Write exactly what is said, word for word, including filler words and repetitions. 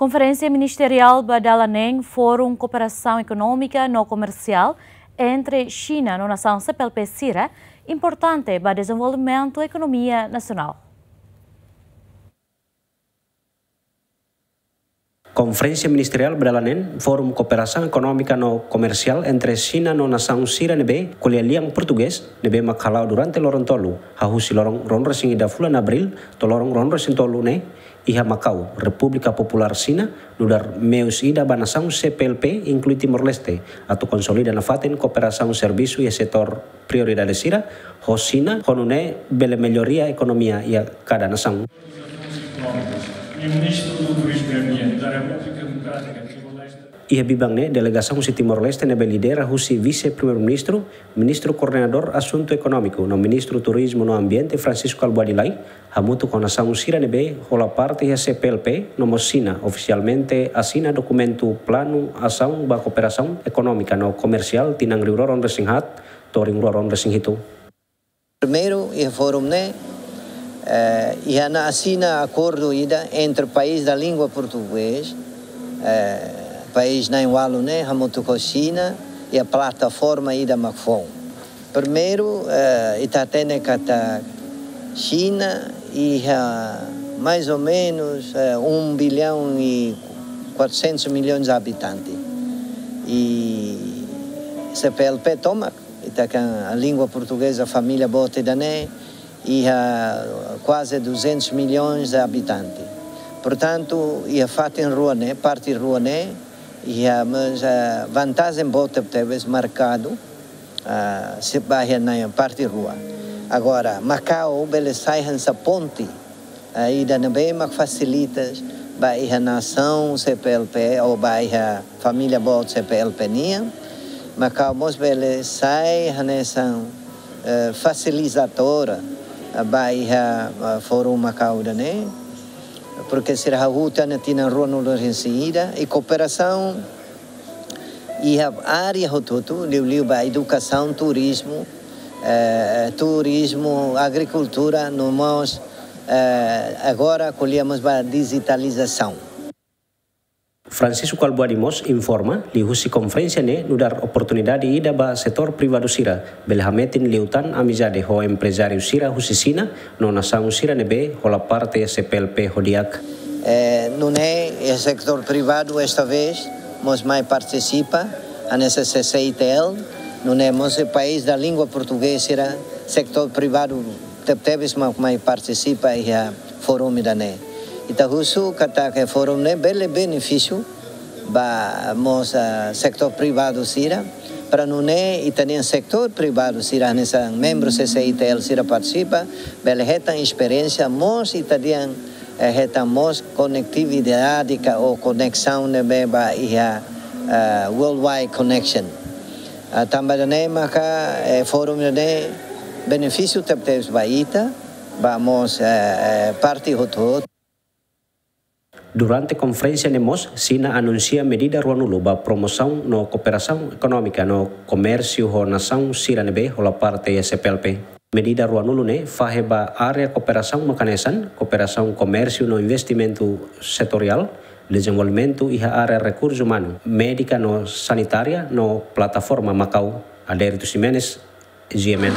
Konferénsia Ministeriál ba dala neen Fórum Kooperasaun Ekonómika no Komersiál entre Xina no nasaun C P L P sira importante ba dezenvolvimentu ekonomia nasionál. Konferénsia Ministeriál ba dala neen Fórum Kooperasaun Ekonómika no Komersiál entre Xina no nasaun sira ne'ebé ko'alia lian portugés ne'ebé mak hala'o durante loron tolu, hahú husi loron ruanulu-resin-ida fulan Abríl to'o loron ruanulu-resin-tolu ne'e, iha Makau, Repúblika Populár Xina, nu'udar meius ida ba nasaun C P L P, inklui Timor-Leste, atu konsolida nafatin kooperasaun servisu iha setór prioridade sira ho Xina, ho nune'e bele melloria ekonomia iha kada nasaun. Iha biban ne'e, delegasaun husi Timor-Leste ne'ebé lidera husi Vise-Primeiru-Ministru, Ministru Koordenadór Asuntu Ekonómiku no Ministru Turizmu no Ambiente, Francisco Albuady Lai, hamutuk ho nasaun sira ne'ebé hola parte iha C P L P no mós Xina, ofisialmente asina dokumentu Planu Asaun ba Kooperasaun Ekonómika no Komersiál tinan rihun rua ruanulu-resin-haat to'o rihun rua ruanulu-resin-hitu. Primeiru, iha fórum ne'e, eh, iha ona asina akordu ida entre país da língua português, eh, país na'in-ualu ne'e, hamutuk ho Xina, iha plataforma ida mak foun. Primeiru, eh, ita hatene katak Xina iha mais ou menos, eh, um bilhão e quatrocentos milhões de habitantes. I C P L P tomak, ita kan língua portugeza, família boot ida-ne'e, iha kuaze duzentos milhões de habitantes. Portantu, iha fatin rua ne'e, parte rua ne'e, iha mós, eh, vantajen boot tebes merkadu, ah, se ba iha ne'e parte rua. Agora, Makau bele sai hanesan ponte, ah, ida ne'ebé mak fasilita ba iha nasaun C P L P ou ba iha família boot C P L P nian. Makau mós bele sai hanesan, eh, fasilitadora, ah, ba iha, ah, Fórum Makau ida-ne'e. Porke sira hahú tiha ona tinan ruanulu-resin-ida, i kooperasaun iha área hotu-hotu, liuliu ba edukasaun, turizmu, eh, turizmu, agrikultura, no mós, eh, agora ko'alia mós ba dijitalizasaun. Francisco Albuady mós informa, liuhusi konferénsia ne'e nu'udar oportunidade ida ba setór privadu sira bele hametin liután amizade ho emprezáriu sira husi Xina no nasaun sira ne'ebé hola parte iha C P L P ho di'ak. Eh, nune'e, eh, setór privadu esta vez mós mai partisipa, hanesan C C I T L, nune'e mós país da língua portugeza sira, setór privadu tebetebes mak mai partisipa iha fórum ida-ne'e. Ita husu katak fórum ne'e bele benefísiu ba mós, ah, setór privadu sira, para nune'e ita-nia setór privadu sira hanesan membru C C I T L sira partisipa, bele hetan esperiénsia mós ita dehan, eh, hetan mós konektividade ka ou koneksaun ne'ebé ba iha, ah, worldwide connection. Ah, tanba ida-ne'e maka, eh, fórum ida-ne'e benefísiu tebetebes ba ita, ba mós, eh, eh, parte hotu-hotu. Durante konferénsia ne'e mós, Xina anunsia medida ruanulu ba promosaun no kooperasaun ekonómika no komérsiu ho nasaun sira ne'ebé hola parte iha C P L P. Medida ruanulu ne'e fahe ba área kooperasaun mak hanesan, kooperasaun komérsiu no investimentu setoriál, dezenvolvimentu iha área rekursu umanu, médika no sanitária no plataforma Makau. Adérito Ximenes, G M N.